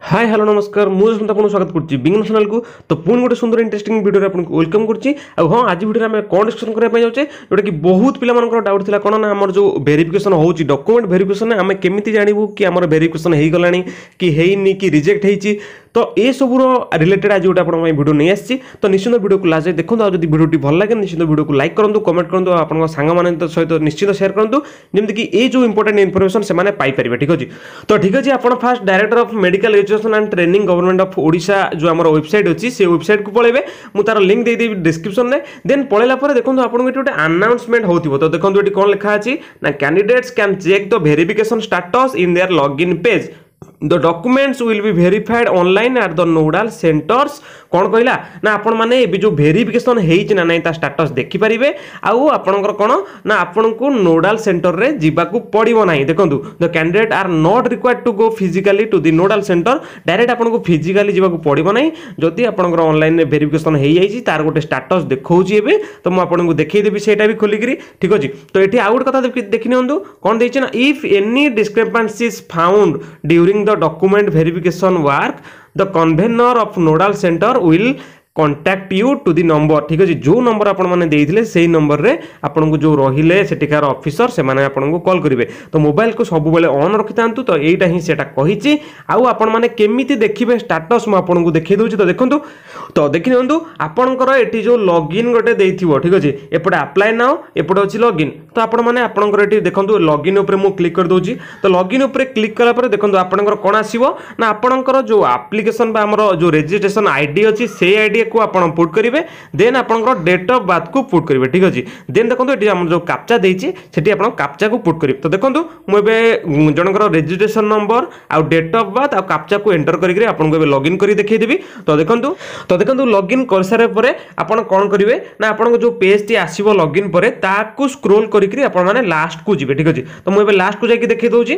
ହାଏ, hello, ନମସ୍କାର। ମୁଁ ଯଶବନ୍ତ, ଆପଣଙ୍କୁ ସ୍ୱାଗତ କରୁଛି ବିଙ୍ଗନ ଚ୍ୟାନେଲକୁ। ତ ପୁଣି ଗୋଟେ ସୁନ୍ଦର ଇଣ୍ଟରେଷ୍ଟିଂ ଭିଡ଼ିଓରେ ଆପଣଙ୍କୁ welcome କରୁଛି। ଆଉ ହଁ, ଆଜି ଭିଡ଼ିଓରେ ଆମେ କ'ଣ ଡିସ୍କସନ୍ କରିବା ପାଇଁ ଯାଉଛେ, ଯେଉଁଟାକି ବହୁତ ପିଲାମାନଙ୍କର ଡାଉଟ୍ ଥିଲା, କ'ଣ ନା ଆମର ଯେଉଁ ଭେରିଫିକେସନ୍ ହେଉଛି, ଡକୁମେଣ୍ଟ ଭେରିଫିକେସନ୍, ଆମେ କେମିତି ଜାଣିବୁ କି ଆମର ଭେରିଫିକେସନ୍ ହେଇଗଲାଣି କି ହେଇନି କି ରିଜେକ୍ଟ ହେଇଛି? ତ ଏସବୁର ରିଲେଟେଡ୍ ଆଜି ଗୋଟେ ଆପଣଙ୍କ ପାଇଁ ଭିଡ଼ିଓ ନେଇ ଆସିଛି। ତ ନିଶ୍ଚିନ୍ତ ଭିଡ଼ିଓକୁ ଲାଷ୍ଟ ଯାଏ ଦେଖନ୍ତୁ। ଆଉ ଯଦି ଭିଡ଼ିଓଟି ଭଲ ଲାଗେ, ନିଶ୍ଚିନ୍ତ ଭିଡ଼ିଓକୁ ଲାଇକ୍ କରନ୍ତୁ, କମେଣ୍ଟ କରନ୍ତୁ ଆଉ ଆପଣଙ୍କ ସାଙ୍ଗମାନଙ୍କ ସହିତ ନିଶ୍ଚିନ୍ତ ସେୟାର କରନ୍ତୁ, ଯେମିତିକି ଏଇ ଯେଉଁ ଇମ୍ପୋର୍ଟାଣ୍ଟ ଇନଫର୍ମେସନ୍ ସେମାନେ ପାଇପାରିବେ। ଠିକ୍ ଅଛି? ତ ଠିକ୍ ଅଛି, ଆପଣ first Director of Medical Education and Training, Government of Odisha ଯେଉଁ ଆମର ୱେବସାଇଟ୍ ଅଛି, ସେ ୱେବସାଇଟ୍କୁ ପଳେଇବେ। ମୁଁ ତାର ଲିଙ୍କ୍ ଦେଇଦେବି ଡିସ୍କ୍ରିପ୍ସନରେ। ଦେନ୍ ପଳେଇଲା ପରେ ଦେଖନ୍ତୁ, ଆପଣଙ୍କୁ ଏଠି ଗୋଟେ ଆନାଉନ୍ସମେଣ୍ଟ ହେଉଥିବ। ତ ଦେଖନ୍ତୁ, ଏଠି କ'ଣ ଲେଖା ଅଛି ନା, "Candidates can check the verification status in their login page. The documents will be verified online at the nodal centers." କ'ଣ କହିଲା ନା, ଆପଣମାନେ ଏବେ ଯେଉଁ ଭେରିଫିକେସନ୍ ହେଇଛି ନା ନାହିଁ, ତା ଷ୍ଟାଟସ୍ ଦେଖିପାରିବେ। ଆଉ ଆପଣଙ୍କର କ'ଣ ନା, ଆପଣଙ୍କୁ ନୋଡାଲ ସେଣ୍ଟରରେ ଯିବାକୁ ପଡ଼ିବ ନାହିଁ। ଦେଖନ୍ତୁ, "The candidate are not required to go physically to the nodal center." Direct ଆପଣଙ୍କୁ ଫିଜିକାଲି ଯିବାକୁ ପଡ଼ିବ ନାହିଁ, ଯଦି ଆପଣଙ୍କର ଅନଲାଇନରେ ଭେରିଫିକେସନ୍ ହେଇଯାଇଛି। ତାର ଗୋଟେ ଷ୍ଟାଟସ୍ ଦେଖାଉଛି ଏବେ, ତ ମୁଁ ଆପଣଙ୍କୁ ଦେଖେଇଦେବି ସେଇଟା ବି ଖୋଲିକିରି। ଠିକ୍ ଅଛି? ତ ଏଠି ଆଉ ଗୋଟେ କଥା ଦେଖି ନିଅନ୍ତୁ, କ'ଣ ଦେଇଛି ନା, "If any discrepancy is found during the document verification work, the convener of nodal center will contact you to the number." ଠିକ୍ ଅଛି? ଯେଉଁ ନମ୍ବର ଆପଣମାନେ ଦେଇଥିଲେ, ସେଇ ନମ୍ବରରେ ଆପଣଙ୍କୁ ଯେଉଁ ରହିଲେ ସେଠିକାର ଅଫିସର, ସେମାନେ ଆପଣଙ୍କୁ କଲ୍ କରିବେ। ତ ମୋବାଇଲକୁ ସବୁବେଳେ ଅନ୍ ରଖିଥାନ୍ତୁ। ତ ଏଇଟା ହିଁ ସେଇଟା କହିଛି। ଆଉ ଆପଣମାନେ କେମିତି ଦେଖିବେ ଷ୍ଟାଟସ୍, ମୁଁ ଆପଣଙ୍କୁ ଦେଖେଇ ଦେଉଛି। ତ ଦେଖନ୍ତୁ, ତ ଦେଖିନିଅନ୍ତୁ, ଆପଣଙ୍କର ଏଠି ଯେଉଁ ଲଗ୍ଇନ୍ ଗୋଟେ ଦେଇଥିବ, ଠିକ୍ ଅଛି, ଏପଟେ ଆପ୍ଲାଏ ନାଉ, ଏପଟେ ଅଛି ଲଗ୍ଇନ୍। ତ ଆପଣମାନେ ଆପଣଙ୍କର ଏଠି ଦେଖନ୍ତୁ, ଲଗ୍ଇନ୍ ଉପରେ ମୁଁ କ୍ଲିକ୍ କରିଦେଉଛି। ତ ଲଗ୍ଇନ୍ ଉପରେ କ୍ଲିକ୍ କଲା ପରେ ଦେଖନ୍ତୁ, ଆପଣଙ୍କର କ'ଣ ଆସିବ ନା, ଆପଣଙ୍କର ଯେଉଁ ଆପ୍ଲିକେସନ୍ ବା ଆମର ଯେଉଁ ରେଜିଷ୍ଟ୍ରେସନ୍ ଆଇଡି ଅଛି, ସେଇ ଆଇଡିକୁ ଆପଣ ପୁଟ୍ କରିବେ। ଦେନ୍ ଆପଣଙ୍କର ଡେଟ୍ ଅଫ୍ ବାର୍ଥକୁ ପୁଟ୍ କରିବେ। ଠିକ୍ ଅଛି? ଦେନ୍ ଦେଖନ୍ତୁ, ଏଠି ଆମର ଯେଉଁ କାପଚା ଦେଇଛି, ସେଠି ଆପଣ କାପଚାକୁ ପୁଟ୍ କରିବେ। ତ ଦେଖନ୍ତୁ, ମୁଁ ଏବେ ଜଣଙ୍କର ରେଜିଷ୍ଟ୍ରେସନ୍ ନମ୍ବର ଆଉ ଡେଟ୍ ଅଫ୍ ବାର୍ଥ ଆଉ କାପଚାକୁ ଏଣ୍ଟର କରିକି ଆପଣଙ୍କୁ ଏବେ ଲଗ୍ଇନ୍ କରି ଦେଖେଇଦେବି। ତ ଦେଖନ୍ତୁ, ଲଗ୍ଇନ୍ କରିସାରିବା ପରେ ଆପଣ କ'ଣ କରିବେ ନା, ଆପଣଙ୍କ ଯେଉଁ ପେଜ୍ଟି ଆସିବ ଲଗ୍ଇନ୍ ପରେ, ତାକୁ ସ୍କ୍ରୋଲ୍ କରିକି ଆପଣମାନେ ଲାଷ୍ଟକୁ ଯିବେ। ଠିକ୍ ଅଛି? ତ ମୁଁ ଏବେ ଲାଷ୍ଟକୁ ଯାଇକି ଦେଖେଇ ଦେଉଛି।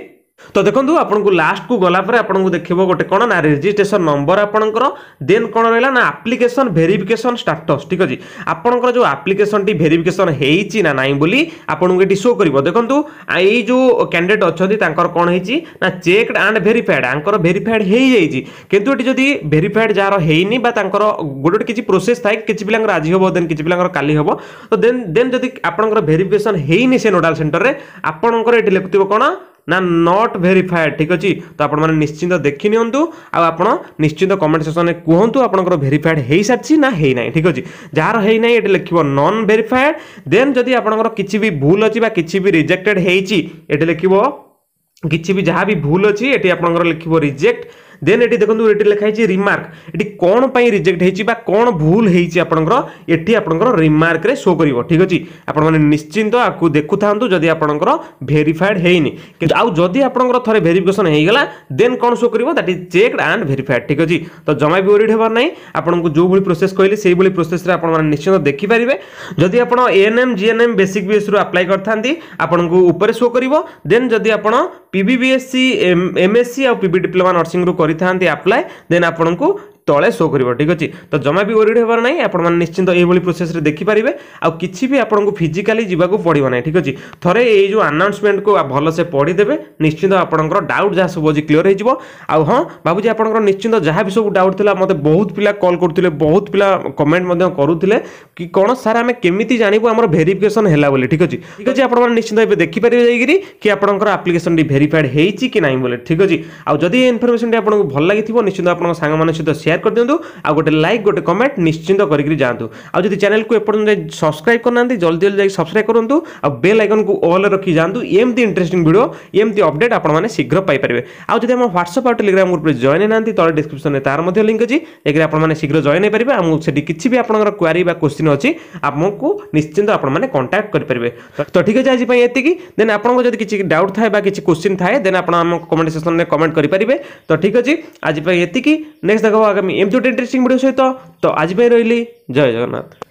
ତ ଦେଖନ୍ତୁ, ଆପଣଙ୍କୁ ଲାଷ୍ଟକୁ ଗଲା ପରେ ଆପଣଙ୍କୁ ଦେଖିବ ଗୋଟେ କ'ଣ ନା ରେଜିଷ୍ଟ୍ରେସନ ନମ୍ବର ଆପଣଙ୍କର। ଦେନ୍ କ'ଣ ରହିଲା ନା ଆପ୍ଲିକେସନ ଭେରିଫିକେସନ ଷ୍ଟାଟସ୍। ଠିକ୍ ଅଛି? ଆପଣଙ୍କର ଯେଉଁ ଆପ୍ଲିକେସନଟି ଭେରିଫିକେସନ ହେଇଛି ନା ନାହିଁ ବୋଲି ଆପଣଙ୍କୁ ଏଠି ଶୋ କରିବ। ଦେଖନ୍ତୁ, ଏଇ ଯେଉଁ କ୍ୟାଣ୍ଡିଡେଟ୍ ଅଛନ୍ତି, ତାଙ୍କର କ'ଣ ହେଇଛି ନା ଚେକ୍ଡ ଆଣ୍ଡ ଭେରିଫାଏଡ୍। ତାଙ୍କର ଭେରିଫାଏଡ୍ ହେଇଯାଇଛି। କିନ୍ତୁ ଏଠି ଯଦି ଭେରିଫାଏଡ୍ ଯାହାର ହେଇନି ବା ତାଙ୍କର ଗୋଟେ ଗୋଟେ କିଛି ପ୍ରୋସେସ୍ ଥାଏ, କିଛି ପିଲାଙ୍କର ଆଜି ହେବ, ଦେନ୍ କିଛି ପିଲାଙ୍କର କାଲି ହେବ। ତ ଦେନ୍ ଯଦି ଆପଣଙ୍କର ଭେରିଫିକେସନ ହେଇନି ସେ ନୋଡାଲ ସେଣ୍ଟରରେ, ଆପଣଙ୍କର ଏଠି ଲେଖୁଥିବ କ'ଣ ନା not verified. ଠିକ୍ ଅଛି? ତ ଆପଣମାନେ ନିଶ୍ଚିନ୍ତ ଦେଖି ନିଅନ୍ତୁ ଆଉ ଆପଣ ନିଶ୍ଚିନ୍ତ କମେଣ୍ଟ ସେକ୍ସନରେ କୁହନ୍ତୁ, ଆପଣଙ୍କର ଭେରିଫାଏଡ୍ ହେଇସାରିଛି ନା ହେଇନାହିଁ। ଠିକ୍ ଅଛି? ଯାହାର ହେଇନାହିଁ, ଏଠି ଲେଖିବ ନନ୍ ଭେରିଫାଏଡ୍। ଦେନ୍ ଯଦି ଆପଣଙ୍କର କିଛି ବି ଭୁଲ ଅଛି ବା କିଛି ବି ରିଜେକ୍ଟେଡ୍ ହେଇଛି, ଏଠି ଲେଖିବ କିଛି ବି ଯାହା ବି ଭୁଲ ଅଛି, ଏଠି ଆପଣଙ୍କର ଲେଖିବ ରିଜେକ୍ଟ। ଦେନ୍ ଏଠି ଦେଖନ୍ତୁ, ଏଠି ଲେଖା ହେଇଛି ରିମାର୍କ। ଏଠି କ'ଣ ପାଇଁ ରିଜେକ୍ଟ ହେଇଛି ବା କ'ଣ ଭୁଲ ହେଇଛି ଆପଣଙ୍କର, ଏଠି ଆପଣଙ୍କର ରିମାର୍କରେ ଶୋ କରିବ। ଠିକ୍ ଅଛି? ଆପଣମାନେ ନିଶ୍ଚିନ୍ତ ଆକୁ ଦେଖୁଥାନ୍ତୁ, ଯଦି ଆପଣଙ୍କର ଭେରିଫାଏଡ୍ ହେଇନି। କିନ୍ତୁ ଆଉ ଯଦି ଆପଣଙ୍କର ଥରେ ଭେରିଫିକେସନ୍ ହେଇଗଲା, ଦେନ୍ କ'ଣ ଶୋ କରିବ? That is checked and verified. ଠିକ୍ ଅଛି? ତ ଜମା ବି ୱରିଡ୍ ହେବାର ନାହିଁ। ଆପଣଙ୍କୁ ଯେଉଁଭଳି ପ୍ରୋସେସ୍ କହିଲି, ସେଇଭଳି ପ୍ରୋସେସ୍ରେ ଆପଣମାନେ ନିଶ୍ଚିନ୍ତ ଦେଖିପାରିବେ। ଯଦି ଆପଣ ଏଏନ୍ଏମ୍, ଜିଏନ୍ଏମ୍, ବେସିକ୍ ବିଏସ୍ରୁ ଆପ୍ଲାଏ କରିଥାନ୍ତି, ଆପଣଙ୍କୁ ଉପରେ ଶୋ କରିବ। ଦେନ୍ ଯଦି ଆପଣ ପିବି ବିଏସ୍ସି, ଏମ୍ଏସ୍ସି ଆଉ ପିବି ଡିପ୍ଲୋମା ନର୍ସିଂରୁ କରିଥାନ୍ତି ଆପ୍ଲାଏ, ଦେନ୍ ଆପଣଙ୍କୁ ତଳେ ଶୋ କରିବ। ଠିକ୍ ଅଛି? ତ ଜମା ବି ୱରିଡ୍ ହେବାର ନାହିଁ। ଆପଣମାନେ ନିଶ୍ଚିନ୍ତ ଏଇଭଳି ପ୍ରୋସେସ୍ରେ ଦେଖିପାରିବେ ଆଉ କିଛି ବି ଆପଣଙ୍କୁ ଫିଜିକାଲି ଯିବାକୁ ପଡ଼ିବ ନାହିଁ। ଠିକ୍ ଅଛି? ଥରେ ଏଇ ଯେଉଁ ଆନାଉନ୍ସମେଣ୍ଟକୁ ଭଲସେ ପଢ଼ିଦେବେ, ନିଶ୍ଚିନ୍ତ ଆପଣଙ୍କର ଡାଉଟ୍ ଯାହା ସବୁ ଅଛି କ୍ଲିୟର ହେଇଯିବ। ଆଉ ହଁ, ଭାବୁଛି ଆପଣଙ୍କର ନିଶ୍ଚିନ୍ତ ଯାହା ବି ସବୁ ଡାଉଟ୍ ଥିଲା, ମୋତେ ବହୁତ ପିଲା କଲ୍ କରୁଥିଲେ, ବହୁତ ପିଲା କମେଣ୍ଟ ମଧ୍ୟ କରୁଥିଲେ କି କ'ଣ ସାର୍, ଆମେ କେମିତି ଜାଣିବୁ ଆମର ଭେରିଫିକେସନ୍ ହେଲା ବୋଲି। ଠିକ୍ ଅଛି? ଠିକ୍ ଅଛି, ଆପଣମାନେ ନିଶ୍ଚିନ୍ତ ଏବେ ଦେଖିପାରିବେ ଯାଇକିରି କି ଆପଣଙ୍କର ଆପ୍ଲିକେସନଟି ଭେରିଫାଏଡ୍ ହେଇଛି କି ନାହିଁ ବୋଲି। ଠିକ୍ ଅଛି? ଆଉ ଯଦି ଏ ଇନଫର୍ମେସନଟି ଆପଣଙ୍କୁ ଭଲ ଲାଗିଥିବ, ନିଶ୍ଚିନ୍ତ ଆପଣଙ୍କ ସାଙ୍ଗମାନଙ୍କ ସହିତ ସେୟାର କରିଦିଅନ୍ତୁ ଆଉ ଗୋଟେ ଲାଇକ୍, ଗୋଟେ କମେଣ୍ଟ ନିଶ୍ଚିନ୍ତ କରିକି ଯାଆନ୍ତୁ। ଆଉ ଯଦି ଚ୍ୟାନେଲକୁ ଏପର୍ଯ୍ୟନ୍ତ ସବସ୍କ୍ରାଇବ୍ କରିନାହାନ୍ତି, ଜଲ୍ଦି ଜଲ୍ଦି ଯାଇକି ସବସ୍କ୍ରାଇବ୍ କରନ୍ତୁ ଆଉ ବେଲ୍ ଆଇକନ୍କୁ ଅଲ୍ ରଖି ଯାଆନ୍ତୁ। ଏମିତି ଇଣ୍ଟରେଷ୍ଟିଂ ଭିଡ଼ିଓ, ଏମିତି ଅପଡେଟ୍ ଆପଣମାନେ ଶୀଘ୍ର ପାଇପାରିବେ। ଆଉ ଯଦି ଆମ ହ୍ୱାଟ୍ସଆପ୍ ଆଉ ଟେଲିଗ୍ରାମ ଗ୍ରୁପରେ ଜଏନ୍ ହେଇନାହାନ୍ତି, ତଳେ ଡିସ୍କ୍ରିପ୍ସନରେ ତାର ମଧ୍ୟ ଲିଙ୍କ୍ ଅଛି। ଯାଇକି ଆପଣମାନେ ଶୀଘ୍ର ଜଏନ୍ ହେଇପାରିବେ। ଆଉ ସେଠି କିଛି ବି ଆପଣଙ୍କର କ୍ୱାରି ବା କୋଶ୍ଚିନ୍ ଅଛି, ଆମକୁ ନିଶ୍ଚିନ୍ତ ଆପଣମାନେ କଣ୍ଟାକ୍ଟ କରିପାରିବେ। ତ ଠିକ୍ ଅଛି, ଆଜି ପାଇଁ ଏତିକି। ଦେନ୍ ଆପଣଙ୍କ ଯଦି କିଛି ଡାଉଟ୍ ଥାଏ ବା କିଛି କୋଶ୍ଚିନ୍ ଥାଏ, ଦେନ୍ ଆପଣ ଆମ କମେଣ୍ଟ ସେକ୍ସନରେ କମେଣ୍ଟ କରିପାରିବେ। ତ ଠିକ୍ ଅଛି, ଆଜି ପାଇଁ ଏତିକି। ନେକ୍ସଟ ଦେଖ ଆଗାମୀ ଏମିତି ଗୋଟେ ଇଣ୍ଟରେଷ୍ଟିଂ ଭିଡ଼ିଓ ସହିତ। ତ ଆଜି ପାଇଁ ରହିଲି। ଜୟ ଜଗନ୍ନାଥ।